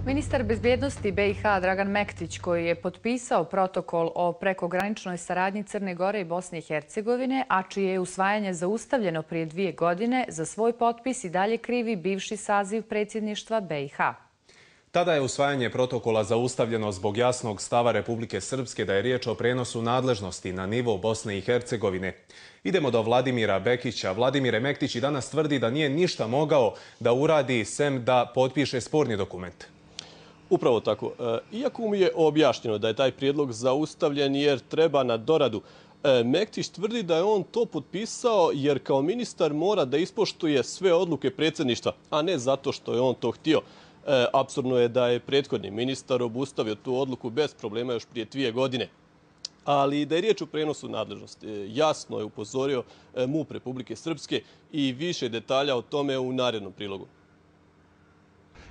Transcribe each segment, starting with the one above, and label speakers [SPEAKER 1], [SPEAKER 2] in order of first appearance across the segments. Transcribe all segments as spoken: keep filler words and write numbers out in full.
[SPEAKER 1] Ministar bezbjednosti B i H Dragan Mektić, koji je potpisao protokol o prekograničnoj saradnji Crne Gore i Bosne i Hercegovine, a čije je usvajanje zaustavljeno prije dvije godine, za svoj potpis i dalje krivi bivši saziv predsjedništva B i H.
[SPEAKER 2] Tada je usvajanje protokola zaustavljeno zbog jasnog stava Republike Srpske da je riječ o prenosu nadležnosti na nivo Bosne i Hercegovine. Idemo do Vladimira Bekića. Vladimire, Mektić i danas tvrdi da nije ništa mogao da uradi sem da potpiše sporni dokument.
[SPEAKER 3] Upravo tako. Iako mu je objašnjeno da je taj prijedlog zaustavljen jer treba na doradu, Mektić tvrdi da je on to potpisao jer kao ministar mora da ispoštuje sve odluke predsjedništva, a ne zato što je on to htio. Apsurdno je da je prethodni ministar obustavio tu odluku bez problema još prije dvije godine. Ali da je riječ o prenosu nadležnosti, jasno je upozorio MUP Republike Srpske i više detalja o tome u narednom prilogu.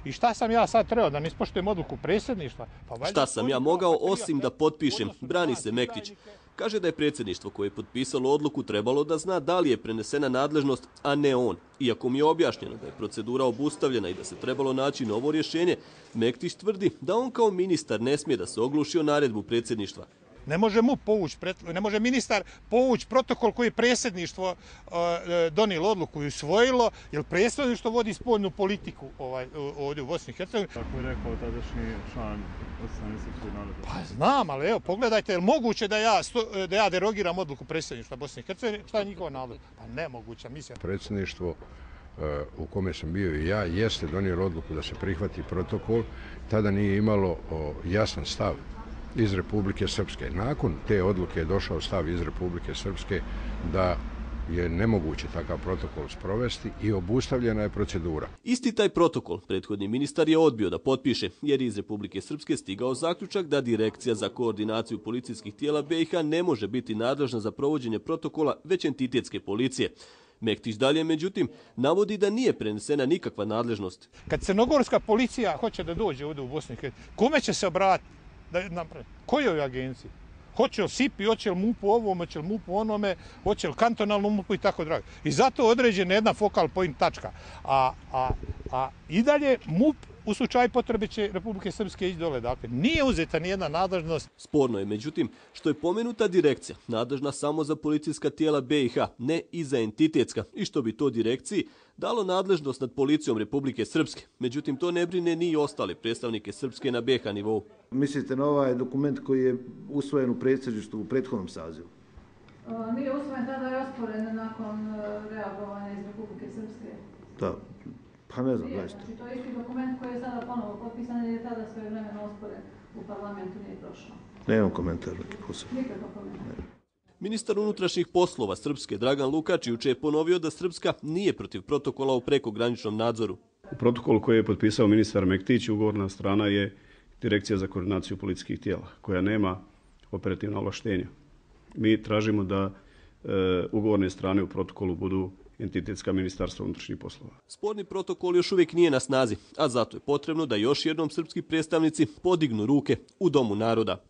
[SPEAKER 4] I šta sam ja sad trebao, da ne ispoštujem odluku predsjedništva?
[SPEAKER 3] Pa šta sam ja mogao osim da potpišem, brani se Mektić. Kaže da je predsjedništvo koje je potpisalo odluku trebalo da zna da li je prenesena nadležnost, a ne on. Iako mi je objašnjeno da je procedura obustavljena i da se trebalo naći novo rješenje, Mektić tvrdi da on kao ministar ne smije da se ogluši o naredbu predsjedništva.
[SPEAKER 4] Ne može MUP povući, ne može ministar povući protokol koji je predsjedništvo donijelo odluku i usvojilo, jer predsjedništvo vodi spoljnu politiku ovdje u Bosni i Hercegovini.
[SPEAKER 5] Tako je rekao tadašnji član Osnovne srpske narodne.
[SPEAKER 4] Pa znam, ali evo, pogledajte, je li moguće da ja, da ja derogiram odluku predsjedništva Bosne i Hercegovine? Šta je njihova nadležnost? Pa nemoguća misija.
[SPEAKER 6] Predsjedništvo u kome sam bio i ja jeste donijelo odluku da se prihvati protokol, tada nije imalo jasan stav iz Republike Srpske. Nakon te odluke je došao stav iz Republike Srpske da je nemoguće takav protokol sprovesti i obustavljena je procedura.
[SPEAKER 3] Isti taj protokol prethodni ministar je odbio da potpiše, jer iz Republike Srpske stigao zaključak da Direkcija za koordinaciju policijskih tijela B i H ne može biti nadležna za provođenje protokola, već entitetske policije. Mektić dalje, međutim, navodi da nije prenesena nikakva nadležnost.
[SPEAKER 4] Kad crnogorska policija hoće da dođe ovdje u Bosni i Hercegovini, kome će se obratiti? Kojoj agenciji? Hoće li S I P I, hoće li MUP-u ovom, hoće li MUP-u onome, hoće li kantonalnom MUP-u i tako dalje. I zato određena jedna focal point tačka. A, a, a i dalje MUP u slučaju potrebe će Republike Srpske ići dole. Dakle, nije uzeta nijedna nadležnost.
[SPEAKER 3] Sporno je, međutim, što je pomenuta direkcija nadležna samo za policijska tijela B i H, ne i za entitetska, i što bi to direkciji dalo nadležnost nad policijom Republike Srpske. Međutim, to ne brine ni ostale predstavnike Srpske na B H nivou.
[SPEAKER 7] Mislite na ovaj dokument koji je usvojen u predsjedništvu u prethodnom sazivu?
[SPEAKER 8] Nije usvojen, tada je osporen nakon reagovanja iz Republike Srpske.
[SPEAKER 7] Da, pa ne znam, zaista.
[SPEAKER 8] Znači, to je isti dokument koji je sada ponovo potpisan jer je tada sve vremena osporen u parlamentu, nije prošao.
[SPEAKER 7] Nemam komentar.
[SPEAKER 8] Nikakav komentar.
[SPEAKER 3] Ministar unutrašnjih poslova Srpske Dragan Lukač juče je ponovio da Srpska nije protiv protokola o prekograničnom nadzoru.
[SPEAKER 5] U protokolu koji je potpisao ministar Mektić, ugovorna strana je Direkcija za koordinaciju policijskih tijela, koja nema operativna ovlaštenja. Mi tražimo da e, ugovorne strane u protokolu budu entitetska ministarstva unutrašnjih poslova.
[SPEAKER 3] Sporni protokol još uvijek nije na snazi, a zato je potrebno da još jednom srpski predstavnici podignu ruke u Domu naroda.